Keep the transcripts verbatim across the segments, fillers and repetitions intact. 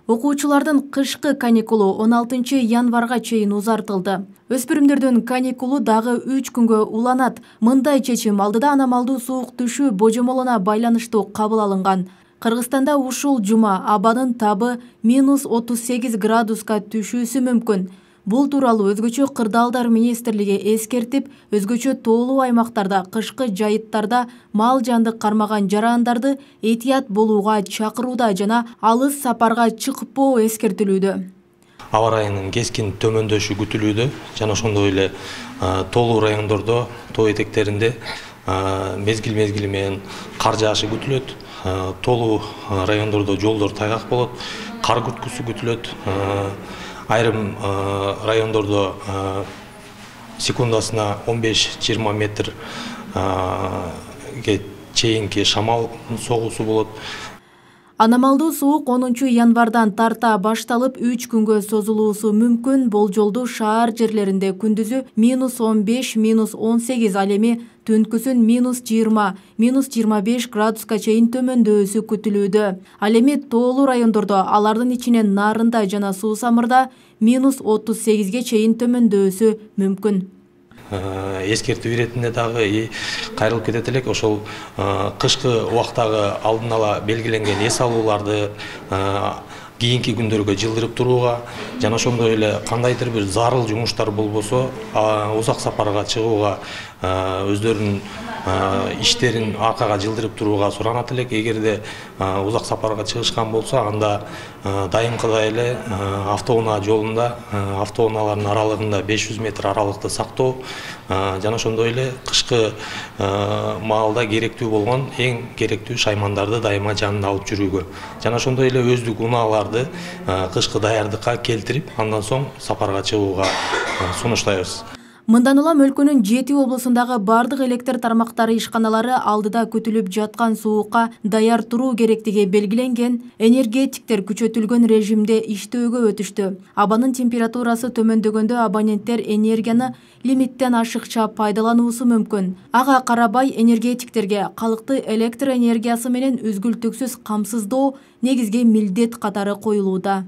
Окуучулардын кышкы каникулу он алтынчы январга чейин узартылды. Өспүрүмдөрдүн каникулу дагы үч күнгө уланат. Мындай чечим алдыда аномалдуу суук түшүү божомолуна байланыштуу кабыл алынган. Кыргызстанда ушул жума абанын табы минус отуз сегиз градуска түшүүсү мүмкүн. Бул тууралуу өзгөчө кырдаалдар министрлиги эскертип, өзгөчө тоолуу аймактарда кышкы жайыттарда мал жанды кармаган жарандарды этият болууга чакырууда жана алыс сапарга чыкпоо эскертилүүдө. Аба ырайынын кескин төмөндөшү күтүлүүдө жана ошондой эле тоолуу райондордо, тоо этектеринде мезгил мезгили менен кар жаашы күтүлөт. Тоолуу райондордо жолдор тайгак болот, кар күрткүсү күтүлөт. Айрым райондордо секундасына он беш жыйырма метрге чейинки шамал согуусу болот. Аномалдуу суук онунчу январдан тарта башталып үч күнгө созулуусу мүмкүн. Болжолду шаар жерлеринде күндүзү минус он беш, минус он сегиз, ал эми түнкүсүн минус жыйырма, минус жыйырма беш градуска чейин төмөндөшү күтүлүүдө. Ал эми тоолуу райондордо, алардын ичинен Нарында жана Суу Самырда минус отуз сегизге чейин төмөндөшү мүмкүн. Эскертүү иретинде дагы кайрылып кетет элек, ошол кышкы убактагы алдын ала белгиленген эс алууларды кийинки күндөргө жылдырып турууга жана ошондой эле кандайдыр бир зарыл жумуштар болбосо узак сапарга чыгууга өздөрүнүн иштерин аркага жылдырып турууга суранат элек. Эгерде узак сапарга чыгышкан болсо, анда дайымкыдай эле автоунаа жолунда, автоунаалардын аралыгында беш жүз метр аралыкты сактоо жана ошондой эле кышкы маалда керектүү болгон эң керектүү шаймандарды дайыма жанында алып жүрүүгө жана ошондой эле өздүк унааларды кышкы даярдыкка келтирип, андан соң сапарга чыгууга сунуштайбыз. Мындан улам өлкөнүн жети облусундагы бардык электр тармактары ишканалары алдыда күтүлүп жаткан суукка даяр туруу керектиги белгиленген. Энергетиктер күчөтүлгөн режимде иштөөгө өтүштү. Абанын температурасы төмөндөгөндө абоненттер энергияны лимиттен ашыкча пайдалануусу мүмкүн. Ага карабай энергетиктерге калкты электр энергиясы менен үзгүлтүксүз камсыздоо негизги милдет катары коюлууда.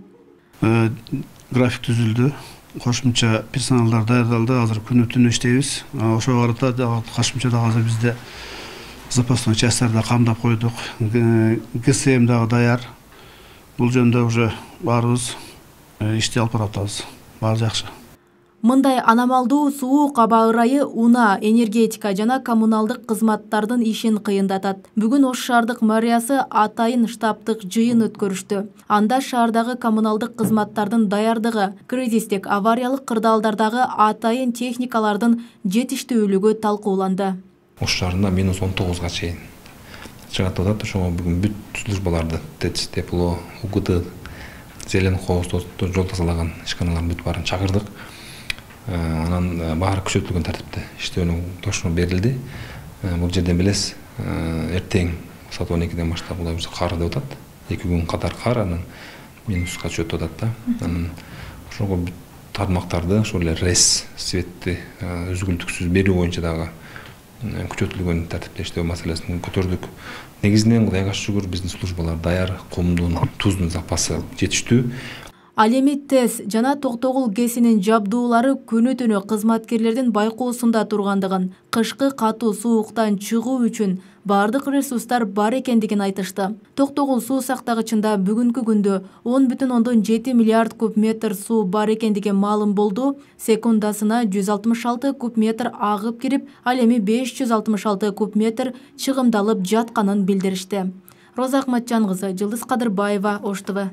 График түзүлдү. Кошумча персоналдар даярдалды. Азыр күнү түнү иштейбиз. Ошого карата кошумча дагы азыр бизде запасной частьтарды камдап койдук. ГСМ дагы даяр. Бул жөнүндө уже баарыбыз ишти алып баратабыз. Баары жакшы. Мындай аномалдуу суук аба ырайы унаа, энергетика жана коммуналдык кызматтардын ишин кыйындатат. Бүгүн Ош шаардык мэриясы атайын штабтык жыйын өткөрүштү. Анда шаардагы коммуналдык кызматтардын даярдыгы, кризистик авариялык кырдаалдардагы атайын техникалардын жетиштүүлүгү талкууланды. Ош шаарында минус он тогузга чейин чыгат деп атат. Ошого бүгүн бүт службаларды ТЭЦ, Тепло, УКТ, Зелен Хоосту жол тазалаган ишканалардын бүт баарын чакырдык. Анан баары күчөтүлгөн тартипте иштөөнүн тошуну берилди. Бул жерден билесиз, эртең саат он экиден баштап Кудай буйрса кар деп атат. эки күн катар кар, анан минуска чөтүп атат да. Анан ошого бүт тармактарды, ошол эле РЭС, светти үзгүлтүксүз берүү боюнча дагы күчөтүлгөн тартипте иштөө маселесин көтөрдүк. Негизинен Кудайга шүгүр биздин службалар даяр, кумдун, туздун запасы жетиштүү. Ал эми ТЭС жана Токтогул ГЭСинин жабдуулары күнү түнү кызматкерлердин байкоосунда тургандыгын, кышкы катуу сууктан чыгуу үчүн бардык ресурстар бар экендигин айтышты. Токтогул суу сактагычында бүгүнкү күндө он бүтүн ондон жети миллиард куб метр суу бар экендиги маалым болду. Секундасына жүз алтымыш алты куб метр агып кирип, ал эми беш жүз алтымыш алты куб метр чыгымдалып жатканын билдиришти. Роза Акматжан кызы, Жылдыз Кадырбаева, Ош ТВ.